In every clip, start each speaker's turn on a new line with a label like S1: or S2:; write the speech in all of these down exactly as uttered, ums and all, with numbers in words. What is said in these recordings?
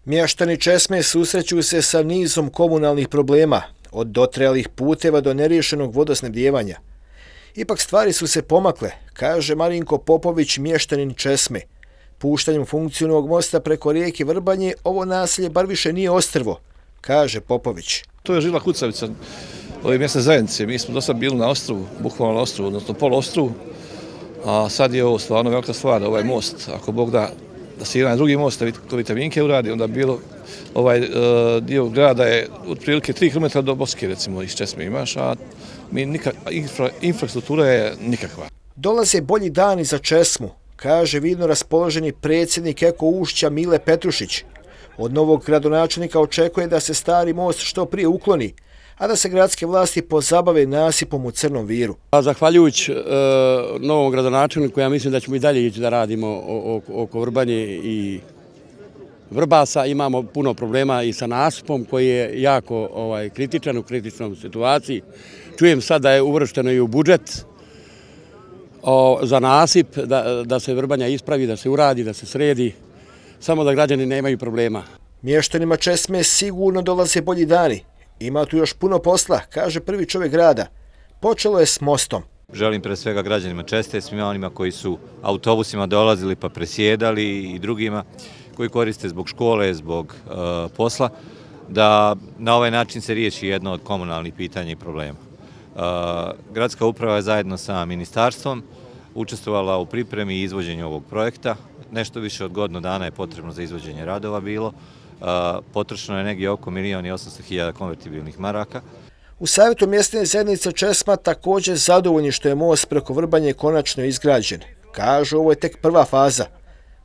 S1: Mještani Česme susreću se sa nizom komunalnih problema, od dotrajalih puteva do neriješenog vodosnabdijevanja. Ipak stvari su se pomakle, kaže Marinko Popović, mještanin Česme. Puštanjem funkciju novog mosta preko rijeke Vrbanje, ovo naselje bar više nije ostrvo, kaže Popović.
S2: To je žila kucavica ove mjesne zajednice. Mi smo do sad bili na ostrovu, bukvalno na ostrovu, odnosno poluostrovu, a sad je ovo stvarno velika stvar, ovaj most. Ako Bog da, da se jedan drugi most, to vitaminke uradi, onda bilo ovaj uh, dio grada je otprilike tri kilometra do Boske, recimo, iz Česme imaš, a mi nikak, infra, infrastruktura je nikakva.
S1: Dolaze bolji dani za Česmu, kaže vidno raspoloženi predsjednik Eko Ušća Mile Petrušić. Od novog gradonačelnika očekuje da se stari most što prije ukloni, a da se gradske vlasti pozabave nasipom u Crnom Viru.
S3: Zahvaljujući e, novom gradonačelniku, ja mislim da ćemo i dalje ići da radimo oko Vrbanje i Vrbasa. Imamo puno problema i sa nasipom koji je jako ovaj, kritičan, u kritičnom situaciji. Čujem sad da je uvršteno i u budžet o, za nasip, da, da se Vrbanja ispravi, da se uradi, da se sredi, samo da građani nemaju problema.
S1: Mještanima Česme sigurno dolaze bolji dani. Ima tu još puno posla, kaže prvi čovjek grada. Počelo je s mostom.
S4: Želim pre svega građanima Česte, svima onima koji su autobusima dolazili pa presjedali i drugima koji koriste zbog škole, zbog uh, posla, da na ovaj način se riješi jedno od komunalnih pitanja i problema. Uh, gradska uprava je zajedno sa ministarstvom učestvovala u pripremi i izvođenju ovog projekta. Nešto više od godinu dana je potrebno za izvođenje radova bilo. Uh, potrošeno je negdje oko milijon i osamsto hiljada konvertibilnih maraka.
S1: U savjetu mjesne zajednice Česma također zadovoljni što je most preko Vrbanje konačno izgrađen. Kažu, ovo je tek prva faza.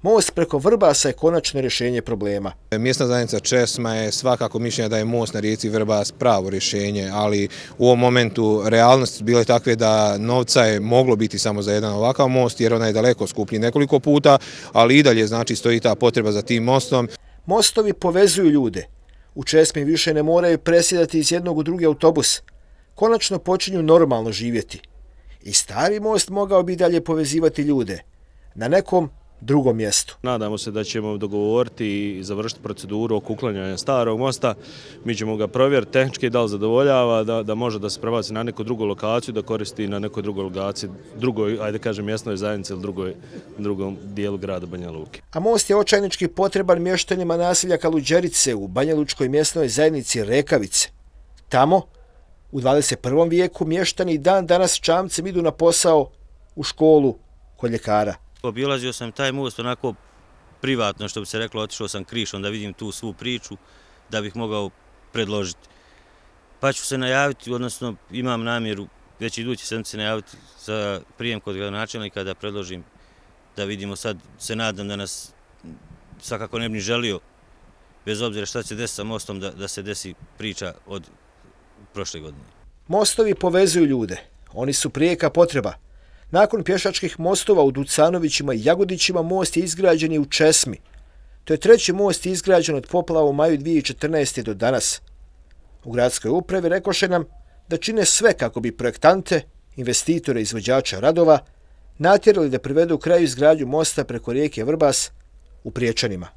S1: Most preko Vrbasa je konačno rješenje problema.
S5: Mjesna zajednica Česma je svakako mišljenja da je most na rijeci Vrbas pravo rješenje, ali u ovom momentu realnost bile takve da novca je moglo biti samo za jedan ovakav most, jer ona je daleko skuplji nekoliko puta, ali i dalje znači stoji ta potreba za tim mostom.
S1: Mostovi povezuju ljude. U Česmi više ne moraju presjedati iz jednog u drugi autobus. Konačno počinju normalno živjeti. I stari most mogao bi dalje povezivati ljude. Na nekom drugom mjestu.
S6: Nadamo se da ćemo dogovoriti i završiti proceduru oko uklanjanja starog mosta. Mi ćemo ga provjeriti tehnički da li zadovoljava, da, da može da se prebaci na neku drugu lokaciju, da koristi na nekoj drugoj lokaciji, drugoj, ajde kažem, mjesnoj zajednici ili drugoj, drugom dijelu grada Banja Luke.
S1: A most je očajnički potreban mještanima naselja Kaluđerice u Banjalučkoj mjesnoj zajednici Rekavice. Tamo, u dvadeset prvom vijeku, mještani dan danas čamcem idu na posao u školu kod ljekara.
S7: Obilazio sam taj most onako privatno, što bi se reklo, otišao sam krišom da vidim tu svu priču, da bih mogao predložiti. Pa ću se najaviti, odnosno imam namjeru već idući sedmice najaviti za prijem kod gradonačelnika da predložim, da vidimo sad, se nadam da nas svakako ne bi želio, bez obzira šta će desiti sa mostom, da, da se desi priča od prošle godine.
S1: Mostovi povezuju ljude, oni su prijeka potreba. Nakon pješačkih mostova u Ducanovićima i Jagodićima most je izgrađen i u Česmi. To je treći most izgrađen od poplava u maju dvije tisuće četrnaeste. do danas. U gradskoj upravi rekoše nam da čine sve kako bi projektante, investitore i izvođača radova natjerali da privedu u kraju izgradnju mosta preko rijeke Vrbas u Priječanima.